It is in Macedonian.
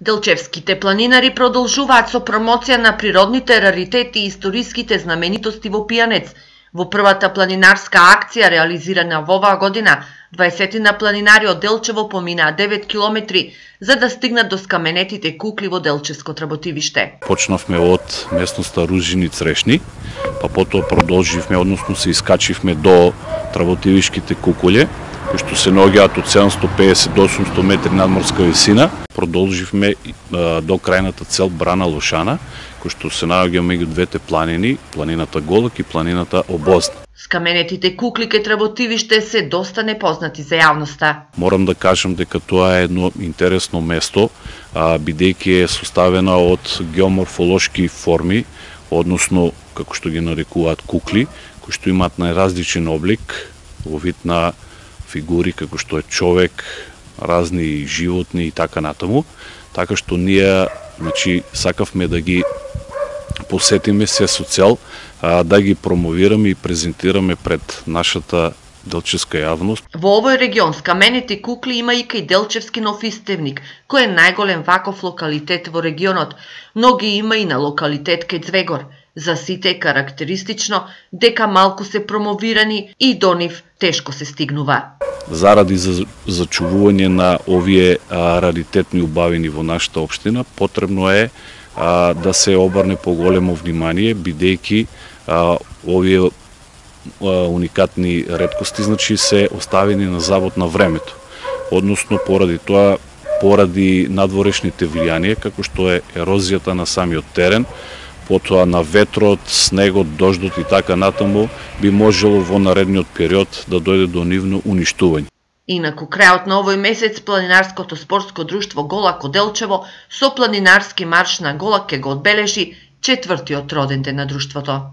Делчевските планинари продолжуваат со промоција на природните раритети и историските знаменитости во Пијанец. Во првата планинарска акција реализирана во оваа година, 20 планинари од Делчево поминаа 9 километри за да стигнат до скаменетите кукли во Делчевско Тработивиште. Почнавме од местноста Ружини Црешни, па потоа продолживме, односно се искачивме до Тработивишките кукуле, кои што се наоѓаат од 750 до 800 метри надморска висина. Продолживме до крајната цел Брана Лушана, кој што се наоѓа меѓу двете планини, планината Голок и планината Обозна. Скаменетите кукли кај Тработивиште се доста непознати за јавноста. Морам да кажам дека тоа е едно интересно место, бидејќи е составена од геоморфолошки форми, односно, како што ги нарекуваат кукли, кои што имаат најразличен облик, во вид на фигури како што е човек, разни животни и така натаму, така што ние сакавме да ги посетиме се со цел да ги промовираме и презентираме пред нашата делчевска јавност. Во овој регион скаменети кукли има и кај Делчевски нов Истевник, кој е најголем ваков локалитет во регионот, но ги има и на локалитет кај Звегор. За сите е карактеристично дека малку се промовирани и до нив тешко се стигнува. Заради зачувување на овие раритетни убавини во нашата општина, потребно е да се обрне поголемо внимание, бидејќи овие уникатни реткости се оставени на забот на времето. Односно, поради надворешните влијанија, како што е ерозијата на самиот терен, потоа на ветрот, снегот, дождот и така натаму, би можело во наредниот период да дојде до нивно уништување. Инаку, крајот на овој месец, планинарското спортско друштво Голак од Делчево со планинарски марш на Голак ќе го одбележи 4-тиот роденден на друштвото.